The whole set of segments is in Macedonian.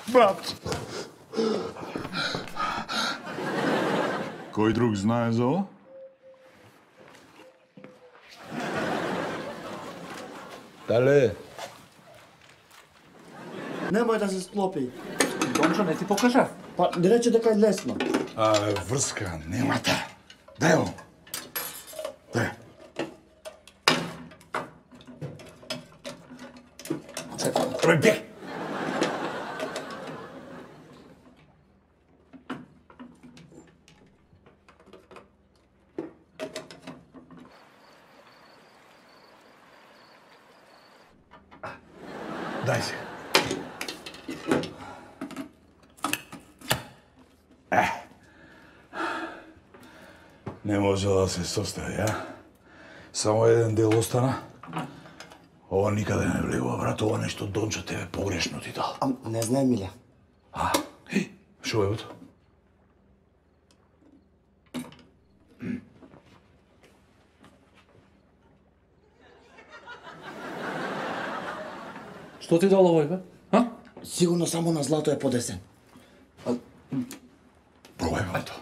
Брат! Кој друг знае за ово? Дале? Немој да се склопи. Дончо, не ти покажа? Па, не рече дека е лесно. Врска, немате. Дај ово. Дај. Рој, бег! Дај се. Не може да се состави, а? Само еден дел остана. Ова никаде не влегува, брат. Ова нешто Дончо тебе погрешно ти дал. Не знае, Миле. Шо е ото? Што ти дал овој, бе? А? Сигурно само на злато е подесен. Пробај, брато.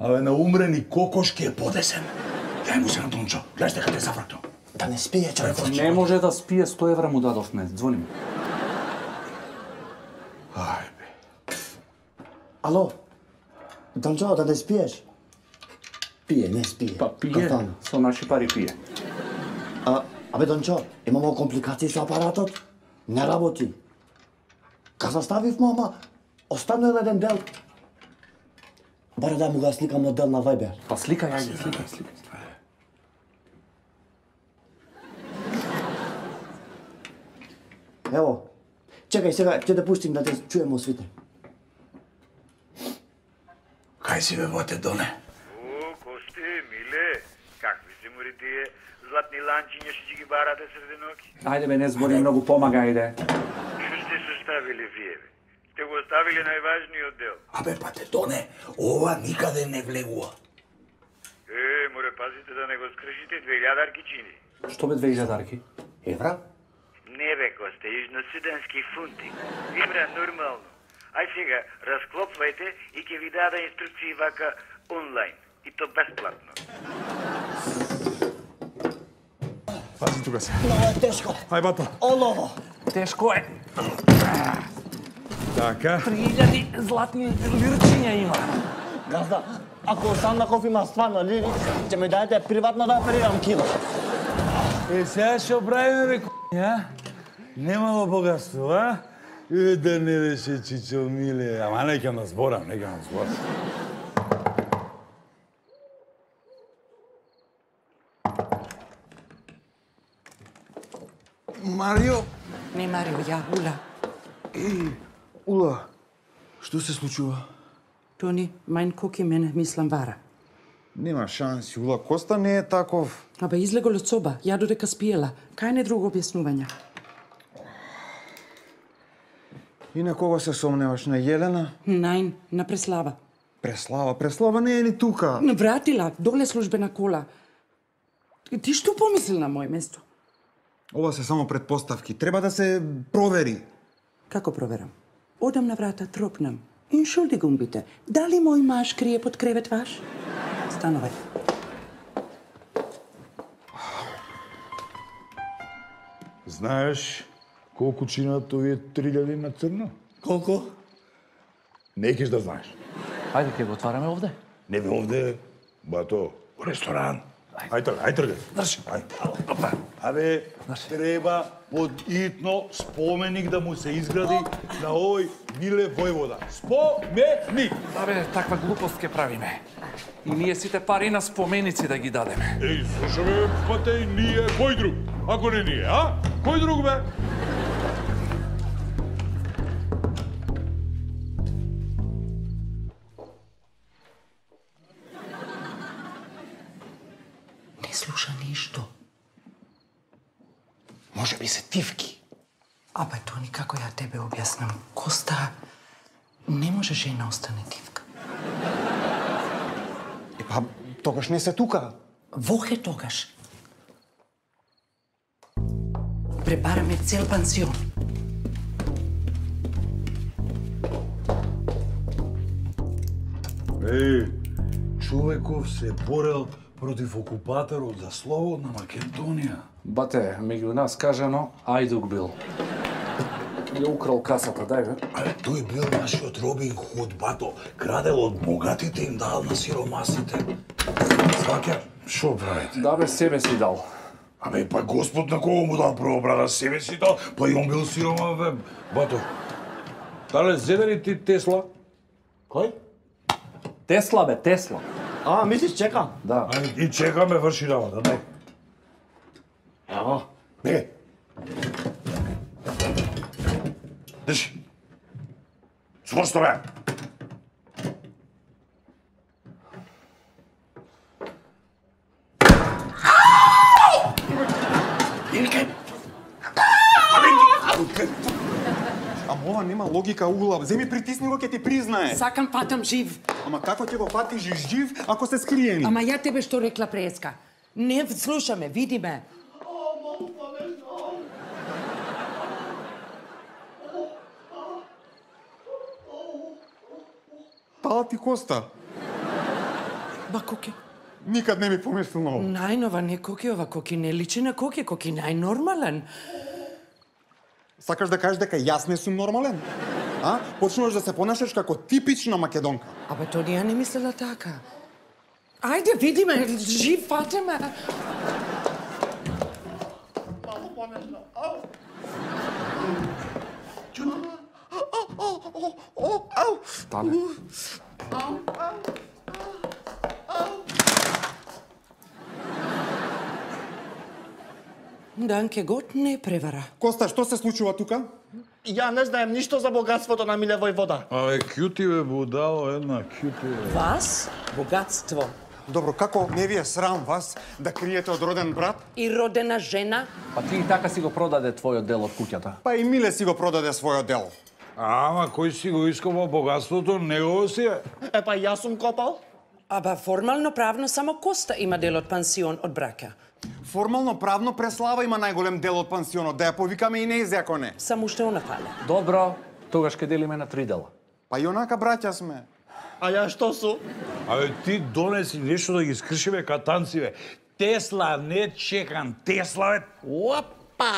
Абе, на умрени кокошки е подесен. Дај му се на Дончо. Гледаш дека те зафракнал. Да не спие, човек. Не може да спие, 100 евра му дадовме. Звони ми. Ај, бе. Ало? Дончо, да не спиеш? Пие, не спие. Па пие, Кафана. со наши пари пие. Абе, Дончо, имамо компликации со апаратот. Не работи. Каза ставив мама, останал еден дел. Баре да му го сликам модел на Viber. Па сликај, ајде, сликај. Ево, чекај сега, ќе да пуштим да те чуемо свите. Кај си, бе, боте, Доне? Косте, Миле, какви се мори тие златни ланчиња што ќе ги барате среде ноќ? Ајде бе, не збори многу, помага, ајде. Што сте составили вие, бе? Сте го оставили најважниот дел. Абе, бате, Доне, ова никаде не влегува. Море пазите да не го скршите, 2000 чини. Што бе 2000 Евра? Не бе, Косте, южносудански фунти. Евра нормално. Ај сега, расклопвајте и ќе ви даде инструкции вака онлайн. И то бесплатно. Пази тука се. Много е тешко. Ај, бато. Олово. Тешко е. Така. 3000 златни лирчиња има. Газда, ако Сандаков има стварно лири, ќе ми дадете приватно да оперирам кило. Сега што правиме, бе, к***ја? Немало богатство, а? Да не беше Чичо Миле. Ама нека на зборам, Марио. Не, Марио, ја, Ула. Ула, што се случува? Тони, мајн коки мене мислам вара. Нема шанси, Ула, Коста не е таков. Абе, излегол од соба, ја додека спиела. Кај не друго објаснувања? И на кого се сомневаш, на Јелена? Најн, на Преслава. Преслава не е ни тука. Вратила, доле службена кола. Ти што помисли на мој место? Ова се само предпоставки, треба да се провери. Како проверам? Одам на врата, тропнам. Entschuldigung bitte, дали мој маж крие под кревет ваш? Становај. Знаеш колку чинат овие 3000 на црно? Колку? Не кеш да знаеш. Ајде, ќе го отвараме овде. Не бе овде, бато, у ресторан. Ај тргай. Држи. Опа. Абе, треба подитно споменик да му се изгради на овој Миле војвода. Споменик! Абе, таква глупост ќе правиме. И ние сите пари на споменици да ги дадеме. Еј, слушаме, пате, ние, кој друг? Ако не ние, а? Кој друг, бе? Не слуша ништо. Може би се тивки. Абе, Тони, како ја тебе објаснам? Коста, не може жена остане тивка. Па, тогаш не се тука. Вохе тогаш. пребараме цел пансион. Човеков се борел против окупаторот за слободна Македонија. Бате, меѓу нас кажано, Ајдук бил. Ја украл касата, дај бе. Але тој бил нашиот Робин Худ, бато. Крадел од богатите им дал на сиромасите. Сваќа, шо правите? Да бе, себе си дал. Абе, па Господ на кого му дал прво брада, себе си дал, па и он бил сирома, бе. Бато, дале, зеде ли ти Тесла? Кој? Тесла бе, Тесла. А, мислиш чека? Да. И чекаме, врши работа, дај. Ево. Беге. Држи. Спорсто, бе. Ама ова нема логика, Ула. Земи притисни го, ќе ти признае. Сакам фатам жив. Ама како ќе го фатиш жив ако се скриени? Ама ја тебе што рекла преска. Не слушаме, видиме. Пала ти коста. Ба коке. Никад не ми помислил на ова. Најнова не коке, ова коки не личи на коке, коки најнормален. Сакаш да кажеш дека јас не сум нормален? А? Почнуваш да се понашаш како типична македонка. Абе, то ја не мислела така. Ајде, видиме, жив фатеме. Стане. Данке гот не превара. Коста, што се случува тука? Ја не знаем ништо за богатството на Миле Војвода. Абе, кјути бе, будало, една кјути бе. Вас, богатство Добро, како не ви е срам вас да криете од роден брат? и родена жена, Па ти и така си го продаде твојот дел од куќата. Па и Миле си го продаде својот дел. Ама, кој си го ископал богатството, негово си е. Епа јас сум копал. аба формално правно само Коста има дел од пансион од брака. Формално правно Преслава има најголем дел од пансионот, да ја повикаме и нејзе ако не. Само уште она фале. Добро, тогаш ке делиме на 3 дела. Па и онака браќа сме. А ја што су? Абе, ти донеси нешто да ги скршиме катанци, бе. Тесла, не чекан, Тесла, бе. Опа!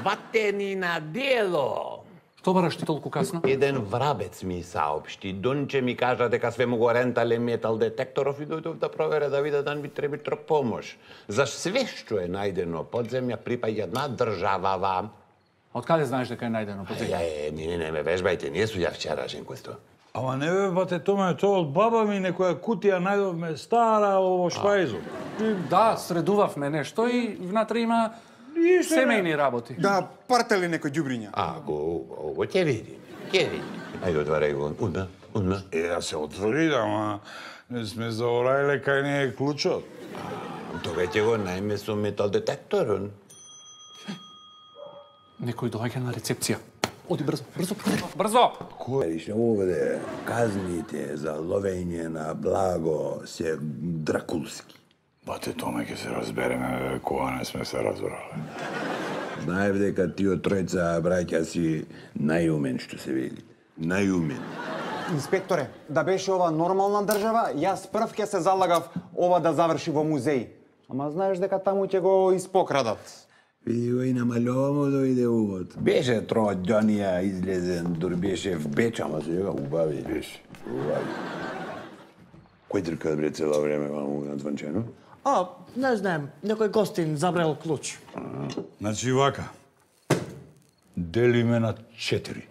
Ватени на дело! Што бараш ти толку касно? Еден врабец ми саопшти. Донче ми кажа дека све му го рентале метал детекторов и дојдов да провере да виде да ми треба помош. За све што е најдено под земја припаѓа на државава. Од каде знаеш дека е најдено под земја? Не ме вежбајте, не су ја вчерашен којсто. Ама не бе, бате, томе, тоа од баба ми некоја кутија најдовме стара во шпајзу. Да, средувавме нешто и внатре има семејни работи. Да партели некој ѓубриња. Ово ќе видиме, ќе видиме. Ајде отварај го, удна. Да се отвори, ама не сме заорајле кај не е клучот. Тога ќе го најме со метал детекторон. Некој доаѓа на рецепција. Оди брзо, брзо! Кој овде казните за ловење на благо се дракулски. Бате, томе ќе се разбереме, бе, кога не сме се разбрале. Знаев дека тие тројца браќа си најумен, што се вели. Најумен. Инспекторе, да беше ова нормална држава, јас прв ќе се залагав ова да заврши во музеј. Ама знаеш дека таму ќе го испокрадат. Види го и намалјово дојде увод. Беше тројдонија излезен, дур беше в Беч, ама сега убави. Беше, убави. Кој трка бре цело време ваму надванчено? Не знаем, некој гостин забрал клуч. Значи вака, делиме на 4.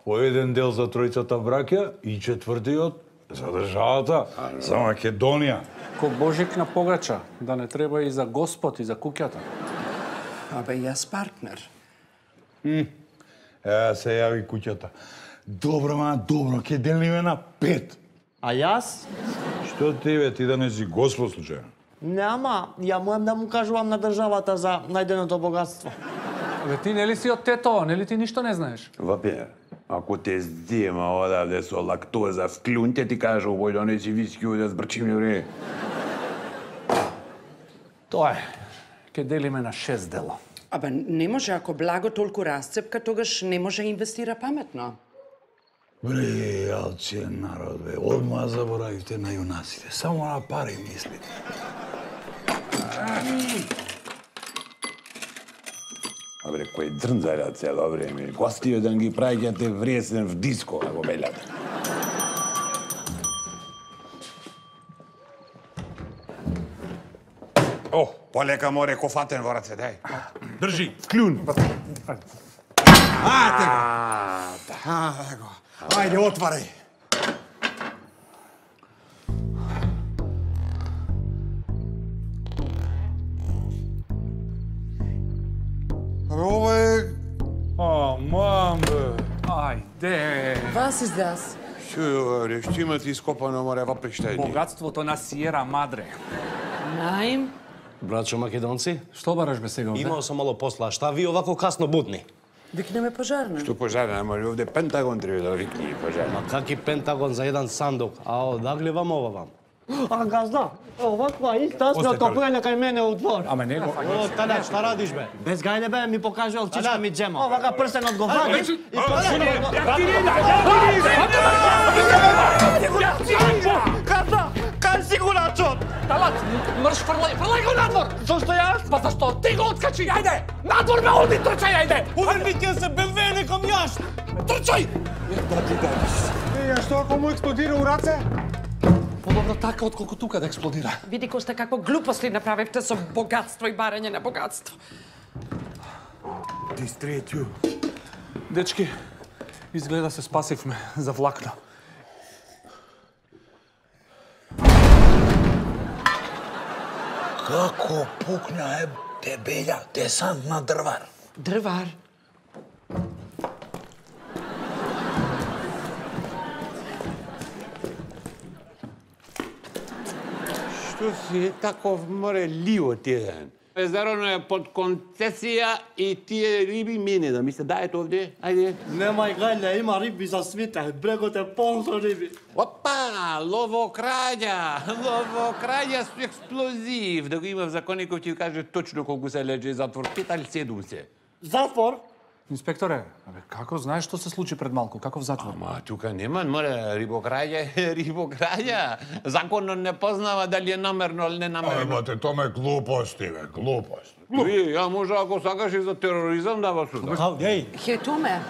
По еден дел за тројцата браќа и четвртиот за државата, за Македонија. Ко Божик на погача, да не треба и за Господ и за куќата. Абе, јас партнер. Се јави куќата. Добро, ќе делиме на 5. А јас? Што ти бе, ти да не си Господ случајно? Нема, ја можам да му кажувам на државата за најденото богатство. Абе ти нели си од Тето, нели ти ништо не знаеш? Вапе, ако те здема одавде со лактоза в клюн, ти кажа овој донеси виски да збрчим јуре. Тоа е. Ке ќе делиме на 6 дела. Абе, не може, ако благо толку расцепка, тогаш не може инвестира паметно. Бре, алчен народ, бе. Одма заборавивте на јунаците. Само на пари мислите. Абре, кој дрнзаја цело време. Гостиот да ги праќате вресен в диско, ако белјате. О, полека море кофатен во раце, дај. Држи, клюн. Ајде, отварај. Абе, ова е... А, мам, бе. Ајде. Was ist das? Шо, што имате ископано море во прештајни? Богатството на Сиера Мадре. Nein. Братчо македонци, Што бараш бе сега овде? имал сам мало посла, а шта ви овако касно будни? Викнеме пожарна. Што пожарна, ама овде Пентагон треба да викне пожарна. Ма каки Пентагон за еден сандук, а одагли вам ова вам? А газда, оваква иста сме отопljena кај мене у двор. Аме него. О, тада, шта радиш бе? Без гајде бе, ми покажал чичка ми джема. Овака прсен одговари и Газда, кај си го начот? Талат, мрш фрлај го надвор. Зошто јас? Па зашто ти го откачи? Ајде, надвор ме оди, трчај, ајде. Увербите се БМВ неком јаш. Трчај. Ја, што ако му експлодира у раце? Подобро така отколку тука да експлодира. Види Коста какво глупости направивте со богатство и барање на богатство. Дистретју. Дечки, изгледа се спасивме за влакна. Како пукна е дебелја десант на дрвар. Дрвар. Што си таков море ливот еден? Езерото е под концесија и тие риби мене да ми се дајат овде. Ајде. Немај гајле, има риби за свите, брегот е полн со риби. Опа, ловокраѓа со експлозив. Да го имав законников ќе каже точно колку се леже затвор, 5 или 7 се. Затвор? Инспекторе, абе како знаеш што се случи пред малку? Каков затвор? Ама тука нема, море, рибокраѓа. Законот не познава дали е намерно или не намерно. Бате, тоа е глупости, бе, глупости. Ја може ако сакаш и за тероризам да вас суда. Еј, Хетуме.